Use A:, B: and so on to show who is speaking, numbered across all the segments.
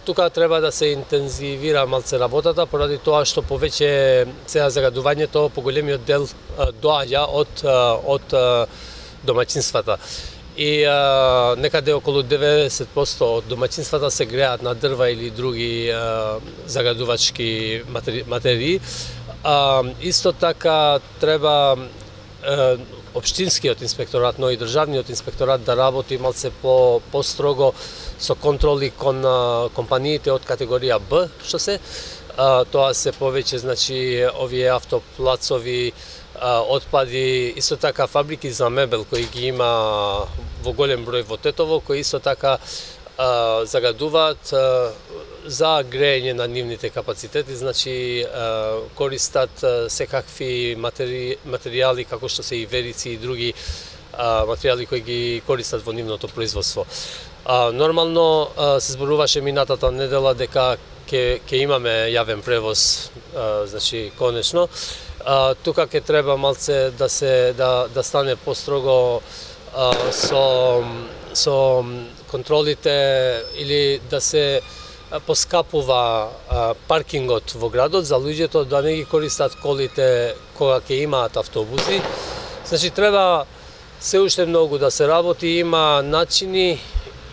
A: Тука треба да се интензивира малце работата, поради тоа што повеќе сега загадувањето, поголемиот дел доаѓа од домаќинствата. И некаде околу 90% од домаќинствата се греат на дрва или други загадувачки материи. Исто така треба општинскиот инспекторат, но и државниот инспекторат да работи малце по-строго со контроли кон компаниите од категорија Б, што се. Тоа се повеќе, значи, овие автоплацови, отпади, исто така фабрики за мебел кои ги има во голем број во Тетово, кои исто така загадуваат за грејење на нивните капацитети, значи користат секакви материјали како што се и верици и други материјали кои ги користат во нивното производство. Нормално се зборуваше минатата недела дека ќе имаме јавен превоз, значи конечно. Тука ќе треба малце да стане построго со контролите или да се поскапува паркингот во градот за луѓето да не ги користат колите кога ќе имаат автобуси. Значи треба се уште многу да се работи, има начини,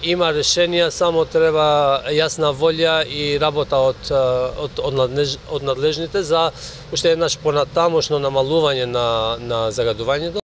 A: има решенија, само треба јасна волја и работа од надлежните за уште еднаш понатамошно намалување на загадувањето.